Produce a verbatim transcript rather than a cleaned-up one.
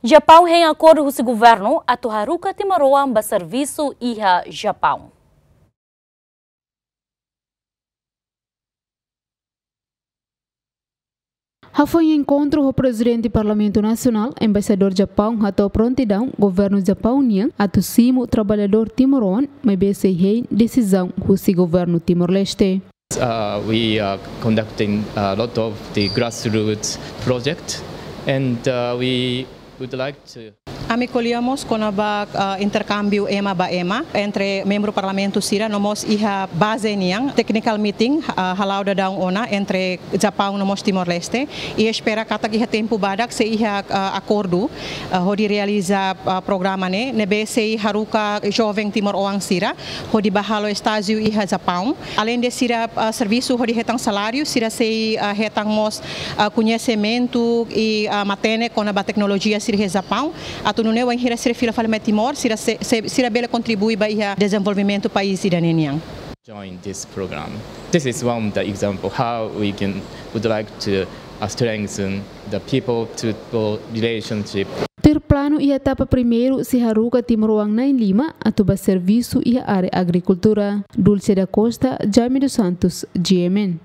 Japaun hein akordu husi governu atu haruka timoroan ba servisu iha Japaun. Hafoin enkontru ho Prezidente Parlamentu Nasionál, Embaixadór Japaun hato'o prontidaun governu Japaun nian atu simu traballadór timoroan maibé sei hein desizaun husi governu Timor-Leste. Uh, we are conducting a lot of the grassroots project, and uh, we would like to. Ami ko'alia mós kona-ba, ah, interkámbiu ema ba ema entre membru parlamentu sira, no mós iha baze nian, technical meeting, ah, hala'o daudaun ona entre Japaun no mós Timor-Leste. I espera katak iha tempu badak sei iha, ah, akordu, ah, hodi realiza, ah, programa ne'e, ne'ebé sei haruka joven timoroan sira hodi bá halo estájiu iha Japaun. Aleinde sira, ah, servisu hodi hetan saláriu, sira sei, ah, hetan mós, ah, koñesimentu i, ah, matenek kona-ba teknolojia sira iha Japaun. Atu nune'e wainhira sira fila fali mai Timor, sira se, se, sira bele kontribui ba iha dezenvolvimentu país ida-ne'e nian. Join this program. This is one of the example how we can, would like to, uh, strengthen the people to people relationship. Tuir planu iha etapa primeiru sei haruka timoroan na'in lima atu bá servisu iha área agrikultura. Dulce da Costa, Jaime dos Santos, G M N.